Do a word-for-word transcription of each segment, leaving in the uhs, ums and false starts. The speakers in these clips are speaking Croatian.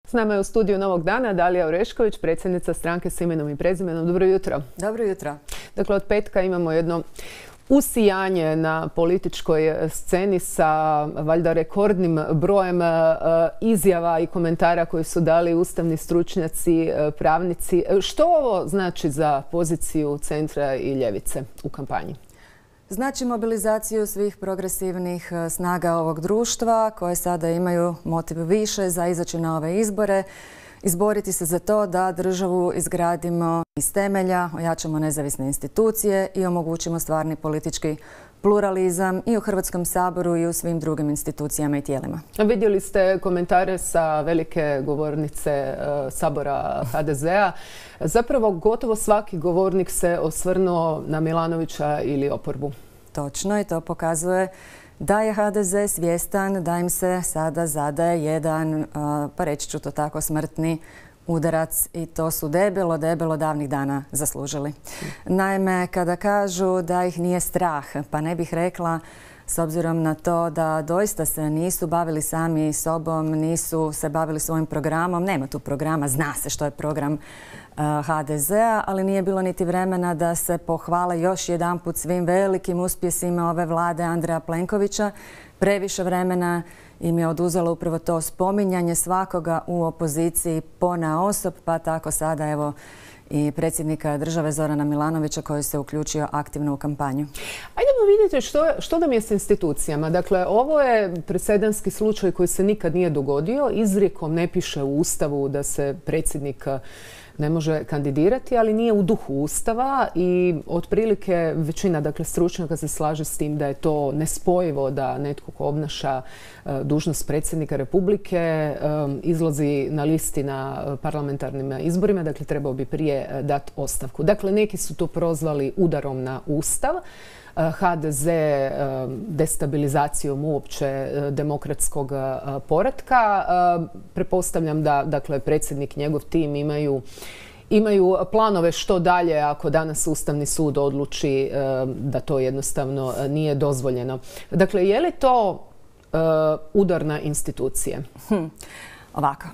S nama je u studiju Novog dana Dalija Orešković, predsjednica stranke s imenom i prezimenom. Dobro jutro. Dobro jutro. Dakle, od petka imamo jedno usijanje na političkoj sceni sa valjda rekordnim brojem izjava i komentara koji su dali ustavni stručnjaci, pravnici. Što ovo znači za poziciju centra i ljevice u kampanji? Znači mobilizaciju svih progresivnih snaga ovog društva koje sada imaju motiv više za izaći na ove izbore, izboriti se za to da državu izgradimo iz temelja, ojačamo nezavisne institucije i omogućimo stvarni politički pluralizam i u Hrvatskom saboru i u svim drugim institucijama i tijelima. Vidjeli ste komentare sa velike govornice Sabora ha de zea. Zapravo gotovo svaki govornik se osvrnuo na Milanovića ili oporbu. Točno, i to pokazuje da je ha de ze svjestan da im se sada zadaje jedan, pa reći ću to tako, smrtni udarac i to su debelo, debelo davnih dana zaslužili. Naime, kada kažu da ih nije strah, pa ne bih rekla, s obzirom na to da doista se nisu bavili sami sobom, nisu se bavili svojim programom. Nema tu programa, zna se što je program ha de zea, ali nije bilo niti vremena da se pohvale još jedanput svim velikim uspjesima ove vlade Andreja Plenkovića. Previše vremena im je oduzelo upravo to spominjanje svakoga u opoziciji ponaosob, pa tako sada evo i predsjednika države Zorana Milanovića koji se uključio aktivno u kampanju. Ajdemo vidjeti što, što nam je s institucijama. Dakle, ovo je presedanski slučaj koji se nikad nije dogodio. Izrijekom ne piše u Ustavu da se predsjednik ne može kandidirati, ali nije u duhu Ustava i otprilike većina dakle, stručnjaka se slaže s tim da je to nespojivo da netko ko obnaša dužnost predsjednika Republike izlazi na listi na parlamentarnim izborima, dakle trebao bi prije dati ostavku. Dakle, neki su to prozvali udarom na Ustav, ha de ze destabilizacijom uopće demokratskog poretka. Pretpostavljam da dakle, predsjednik i njegov tim imaju imaju planove što dalje ako danas Ustavni sud odluči da to jednostavno nije dozvoljeno. Dakle, je li to udar na institucije? Hm. Ovako,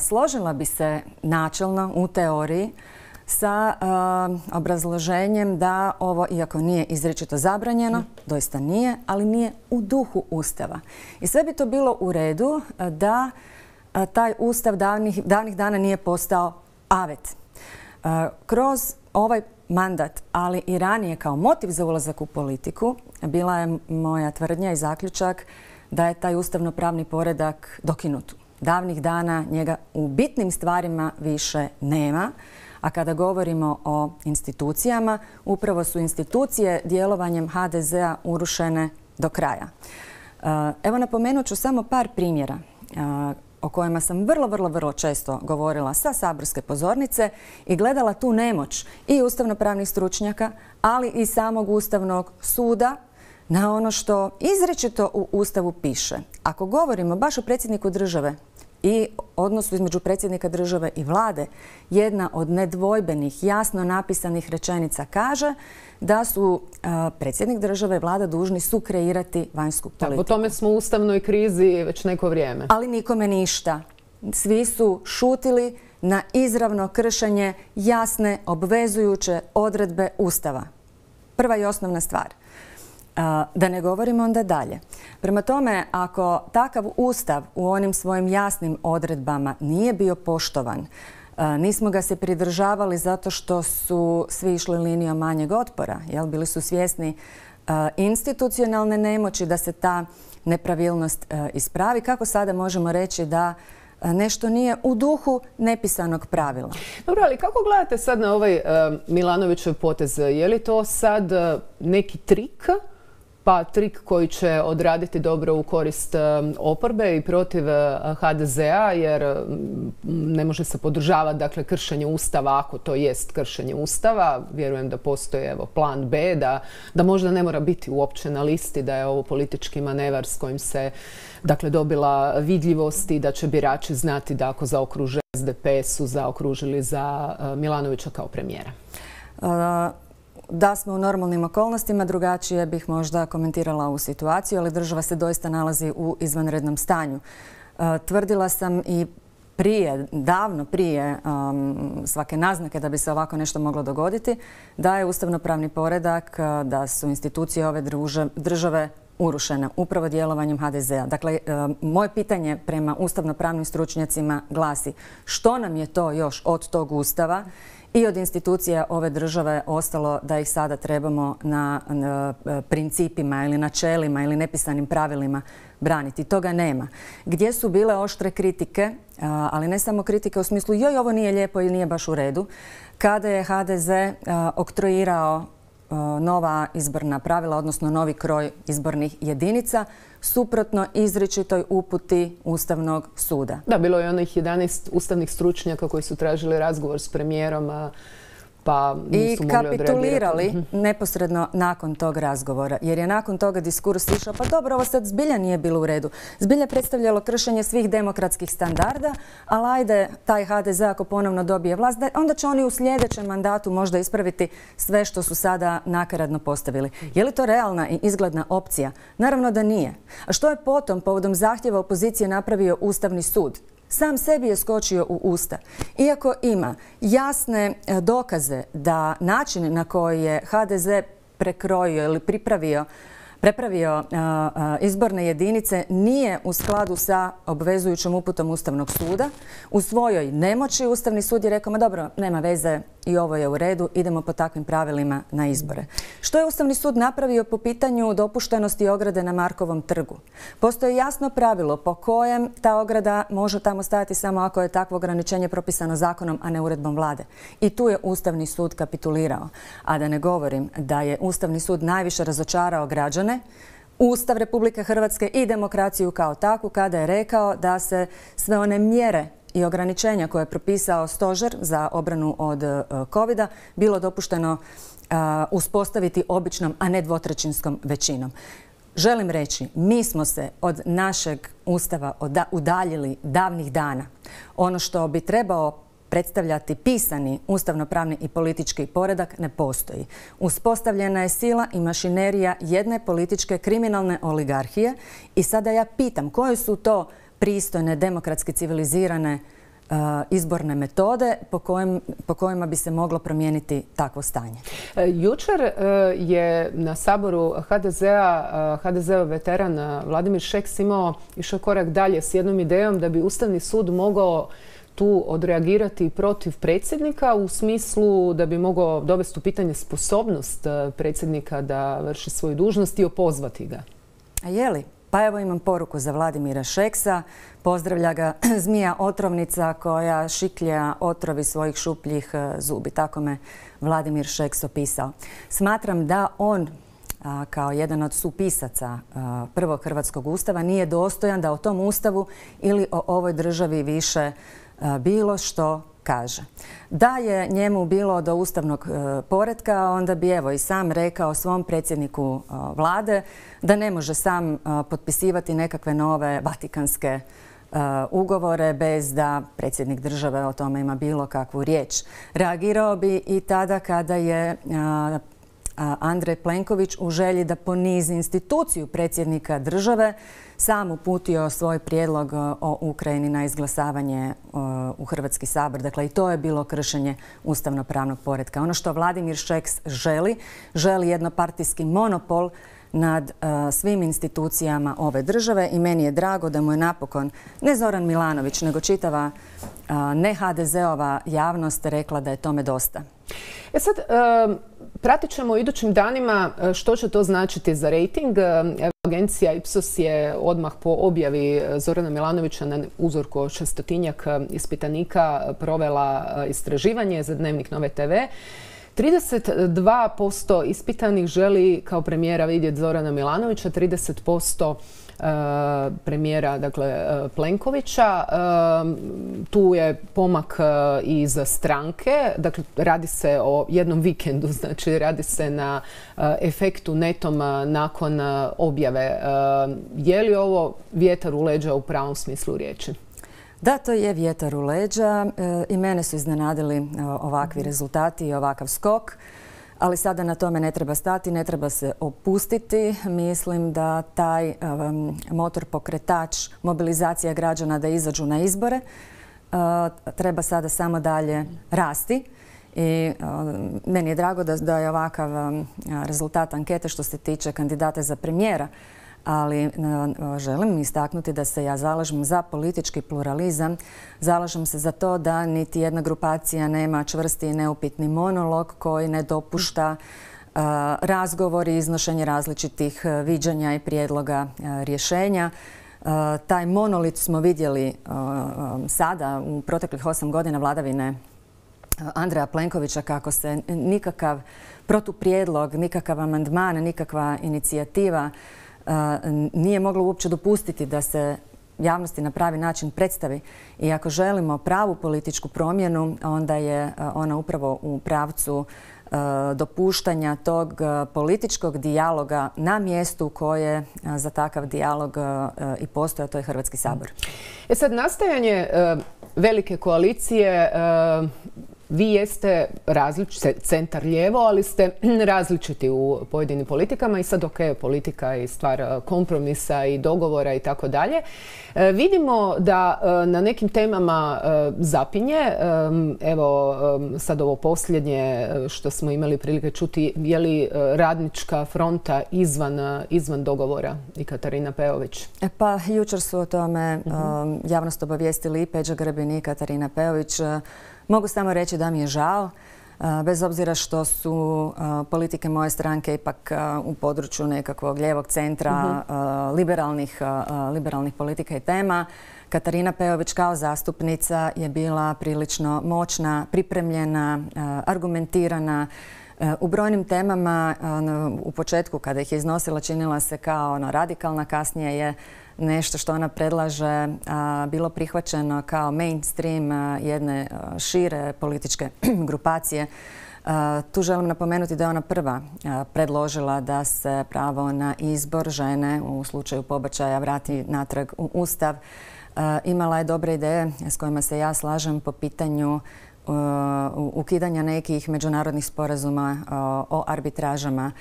složila bi se načelno u teoriji sa uh, obrazloženjem da ovo, iako nije izričito zabranjeno, mm. doista nije, ali nije u duhu Ustava. I sve bi to bilo u redu da uh, taj Ustav davnih, davnih dana nije postao avet. Uh, kroz ovaj mandat, ali i ranije kao motiv za ulazak u politiku, bila je moja tvrdnja i zaključak da je taj ustavno-pravni poredak dokinut. Davnih dana njega u bitnim stvarima više nema. A kada govorimo o institucijama, upravo su institucije djelovanjem ha de zea urušene do kraja. Evo napomenut ću samo par primjera o kojima sam vrlo, vrlo, vrlo često govorila sa saborske pozornice i gledala tu nemoć i ustavno-pravnih stručnjaka, ali i samog Ustavnog suda na ono što izričito u Ustavu piše. Ako govorimo baš o predsjedniku države i odnosu između predsjednika države i vlade, jedna od nedvojbenih, jasno napisanih rečenica kaže da su uh, predsjednik države i vlada dužni sukreirati vanjsku politiku. Po tome smo u ustavnoj krizi već neko vrijeme. Ali nikome ništa. Svi su šutili na izravno kršenje jasne, obvezujuće odredbe Ustava. Prva i osnovna stvar. Da ne govorimo onda dalje. Prema tome, ako takav Ustav u onim svojim jasnim odredbama nije bio poštovan, nismo ga se pridržavali zato što su svi išli linijom manjeg otpora, jel? Bili su svjesni institucionalne nemoći da se ta nepravilnost ispravi. Kako sada možemo reći da nešto nije u duhu nepisanog pravila? Dobro, ali kako gledate sad na ovaj Milanovićev potez? Je li to sad neki trik? Pa trik koji će odraditi dobro u korist oporbe i protiv ha de zea, jer ne može se podržavati dakle, kršenje Ustava ako to jest kršenje Ustava. Vjerujem da postoji evo, plan be, da, da možda ne mora biti uopće na listi, da je ovo politički manevar s kojim se dakle, dobila vidljivost i da će birači znati da ako zaokruže es de pe su zaokružili za Milanovića kao premijera. Uh... Da smo u normalnim okolnostima, drugačije bih možda komentirala ovu situaciju, ali država se doista nalazi u izvanrednom stanju. Tvrdila sam i prije, davno prije um, svake naznake da bi se ovako nešto moglo dogoditi, da je ustavnopravni poredak, da su institucije ove druže, države urušene upravo djelovanjem ha de zea. Dakle, um, moje pitanje prema ustavnopravnim stručnjacima glasi što nam je to još od tog ustava i od institucija ove države ostalo da ih sada trebamo na, na principima ili načelima ili nepisanim pravilima braniti. Toga nema. Gdje su bile oštre kritike, ali ne samo kritike u smislu joj, ovo nije lijepo i nije baš u redu, kada je ha de ze oktroirao nova izborna pravila, odnosno novi kroj izbornih jedinica, suprotno izričitoj uputi Ustavnog suda. Da, bilo je onih jedanaest ustavnih stručnjaka koji su tražili razgovor s premijerom, a pa nisu i mogli kapitulirali neposredno nakon tog razgovora. Jer je nakon toga diskurs išao, pa dobro, ovo sad zbilja nije bilo u redu. Zbilja predstavljalo kršenje svih demokratskih standarda, ali ajde, taj ha de ze ako ponovno dobije vlast, onda će oni u sljedećem mandatu možda ispraviti sve što su sada nakaradno postavili. Je li to realna i izgledna opcija? Naravno da nije. A što je potom povodom zahtjeva opozicije napravio Ustavni sud? Sam sebi je skočio u usta. Iako ima jasne dokaze da način na koji je ha de ze prekrojio ili pripravio prepravio uh, uh, izborne jedinice nije u skladu sa obvezujućom uputom Ustavnog suda. U svojoj nemoći Ustavni sud je rekao, ma dobro, nema veze i ovo je u redu, idemo po takvim pravilima na izbore. Što je Ustavni sud napravio po pitanju dopuštenosti ograde na Markovom trgu? Postoji jasno pravilo po kojem ta ograda može tamo stajati samo ako je takvo ograničenje propisano zakonom, a ne uredbom vlade. I tu je Ustavni sud kapitulirao. A da ne govorim da je Ustavni sud najviše razočarao građane, Ustav Republike Hrvatske i demokraciju kao takvu kada je rekao da se sve one mjere i ograničenja koje je propisao stožer za obranu od covida bilo dopušteno uh, uspostaviti običnom, a ne dvotrećinskom većinom. Želim reći, mi smo se od našeg Ustava udaljili davnih dana. Ono što bi trebao predstavljati pisani ustavnopravni i politički poredak ne postoji. Uspostavljena je sila i mašinerija jedne političke kriminalne oligarhije i sada ja pitam koje su to pristojne, demokratski civilizirane uh, izborne metode po, kojem, po kojima bi se moglo promijeniti takvo stanje. Jučer uh, je na saboru ha de zea uh, ha de zeov veteran uh, Vladimir Šeks imao išao korak dalje s jednom idejom da bi Ustavni sud mogao tu odreagirati protiv predsjednika u smislu da bi mogao dovesti u pitanje sposobnost predsjednika da vrši svoju dužnost i opozvati ga. A je li? Pa evo imam poruku za Vladimira Šeksa. Pozdravlja ga zmija otrovnica koja šiklja otrovi svojih šupljih zubi. Tako me Vladimir Šeks opisao. Smatram da on a, kao jedan od supisaca a, prvog hrvatskog ustava nije dostojan da o tom ustavu ili o ovoj državi više bilo što kaže. Da je njemu bilo do ustavnog e, poretka, onda bi evo i sam rekao svom predsjedniku e, vlade da ne može sam e, potpisivati nekakve nove vatikanske e, ugovore bez da predsjednik države o tome ima bilo kakvu riječ. Reagirao bi i tada kada je a, a Andrej Plenković u želji da ponizi instituciju predsjednika države sam uputio svoj prijedlog o Ukrajini na izglasavanje u Hrvatski sabor. Dakle, i to je bilo kršenje ustavnopravnog poretka. Ono što Vladimir Šeks želi, želi jednopartijski monopol nad uh, svim institucijama ove države i meni je drago da mu je napokon ne Zoran Milanović, nego čitava uh, ne ha de zeova javnost rekla da je tome dosta. E sad, uh, pratit ćemo u idućim danima što će to značiti za rejting. Agencija Ipsos je odmah po objavi Zorana Milanovića na uzorku od šestotinjak ispitanika provela istraživanje za Dnevnik Nove te ve. trideset dva posto ispitanih želi kao premijera vidjeti Zorana Milanovića, trideset posto premijera, dakle, Plenkovića. Tu je pomak i za stranke. Dakle, radi se o jednom vikendu, znači radi se na efektu netom nakon objave. Je li ovo vjetar u leđa u pravom smislu riječi? Da, to je vjetar u leđa i mene su iznenadili ovakvi rezultati i ovakav skok. Ali sada na tome ne treba stati, ne treba se opustiti. Mislim da taj um, motor pokretač mobilizacija građana da izađu na izbore treba sada samo dalje rasti. I meni je drago da, da je ovakav rezultat ankete što se tiče kandidata za premijera, ali želim istaknuti da se ja zalažem za politički pluralizam, zalažem se za to da niti jedna grupacija nema čvrsti i neupitni monolog koji ne dopušta razgovor i iznošenje različitih viđanja i prijedloga rješenja. Taj monolit smo vidjeli sada u proteklih osam godina vladavine Andreja Plenkovića, kako se nikakav protuprijedlog, nikakav amandman, nikakva inicijativa nije moglo uopće dopustiti da se javnosti na pravi način predstavi. I ako želimo pravu političku promjenu, onda je ona upravo u pravcu dopuštanja tog političkog dijaloga na mjestu koje za takav dijalog i postoji, a to je Hrvatski sabor. E sad, nastajanje velike koalicije, vi jeste različiti, centar-lijevo, ali ste različiti u pojedinim politikama i sad ok, politika je stvar kompromisa i dogovora i tako dalje. Vidimo da na nekim temama zapinje. Evo sad ovo posljednje što smo imali prilike čuti, je li Radnička fronta izvan, izvan dogovora i Katarina Peović? Pa jučer su o tome uh-huh. javnost obavijestili i Peđa Grbin i Katarina Peović. Mogu samo reći da mi je žao, bez obzira što su politike moje stranke ipak u području nekakvog lijevog centra, uh-huh. liberalnih, liberalnih politika i tema. Katarina Peović kao zastupnica je bila prilično moćna, pripremljena, argumentirana. U brojnim temama u početku kada ih je iznosila činila se kao ono, radikalna, kasnije je nešto što ona predlaže a, bilo prihvaćeno kao mainstream a, jedne a, šire političke grupacije. A, tu želim napomenuti da je ona prva a, predložila da se pravo na izbor žene u slučaju pobačaja vrati natrag u Ustav. A, imala je dobre ideje s kojima se ja slažem po pitanju a, ukidanja nekih međunarodnih sporazuma a, o arbitražama.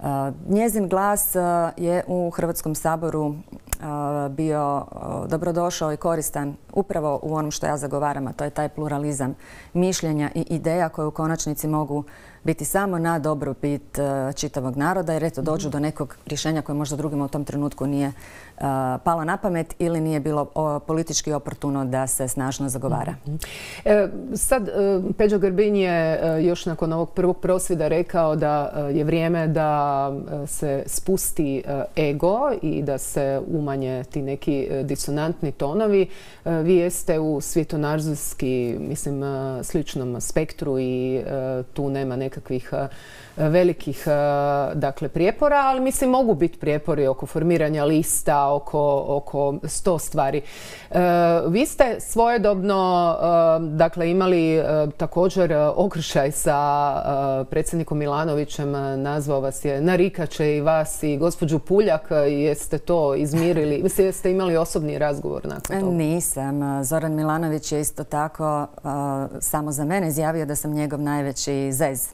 Uh, njezin glas uh, je u Hrvatskom saboru uh, bio uh, dobrodošao i koristan upravo u onom što ja zagovaram, a to je taj pluralizam mišljenja i ideja koje u konačnici mogu biti samo na dobrobit uh, čitavog naroda, jer eto dođu do nekog rješenja koje možda drugima u tom trenutku nije uh, palo na pamet ili nije bilo o, politički oportuno da se snažno zagovara. E, sad, uh, Peđa Grbin je uh, još nakon ovog prvog prosvjeda rekao da uh, je vrijeme da se spusti ego i da se umanje ti neki disonantni tonovi. Vi jeste u svjetonazorski, mislim, sličnom spektru i tu nema nekakvih velikih, dakle, prijepora, ali mislim mogu biti prijepori oko formiranja lista, oko, oko sto stvari. Vi ste svojedobno, dakle, imali također okršaj sa predsjednikom Milanovićem, nazvao vas je narikače i vas i gospođu Puljak, jeste to izmirili? Mislim, jeste imali osobni razgovor nakon toga? Nisam. Zoran Milanović je isto tako uh, samo za mene izjavio da sam njegov najveći zez.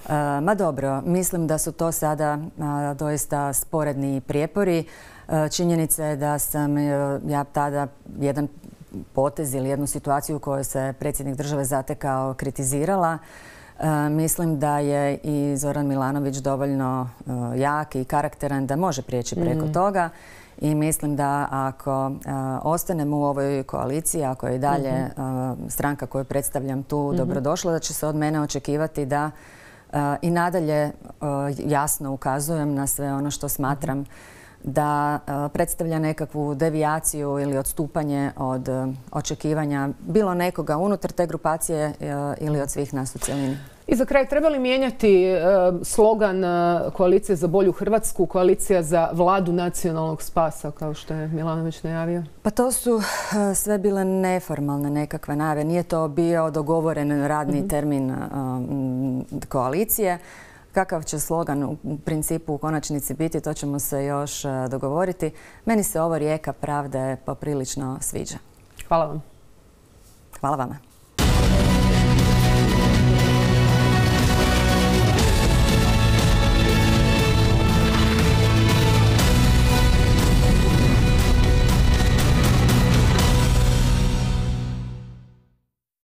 Uh, ma dobro, mislim da su to sada uh, doista sporedni prijepori. Uh, činjenica je da sam uh, ja tada jedan potez ili jednu situaciju u kojoj se predsjednik države zatekao kritizirala. Uh, mislim da je i Zoran Milanović dovoljno uh, jak i karakteran da može prijeći preko mm. toga i mislim da ako uh, ostanemo u ovoj koaliciji, ako je i dalje mm-hmm. uh, stranka koju predstavljam tu mm-hmm. dobrodošla, da će se od mene očekivati da uh, i nadalje uh, jasno ukazujem na sve ono što smatram mm-hmm. da uh, predstavlja nekakvu devijaciju ili odstupanje od uh, očekivanja bilo nekoga unutar te grupacije uh, ili od svih nas u cjelini. I za kraj, treba li mijenjati uh, slogan uh, Koalicije za bolju Hrvatsku, Koalicija za vladu nacionalnog spasa, kao što je Milanović najavio? Pa to su uh, sve bile neformalne nekakve najave. Nije to bio dogovoren radni mm-hmm. termin uh, koalicije. Kakav će slogan u principu u konačnici biti, to ćemo se još uh, dogovoriti. Meni se ovo rijeka pravde poprilično sviđa. Hvala vam. Hvala vama.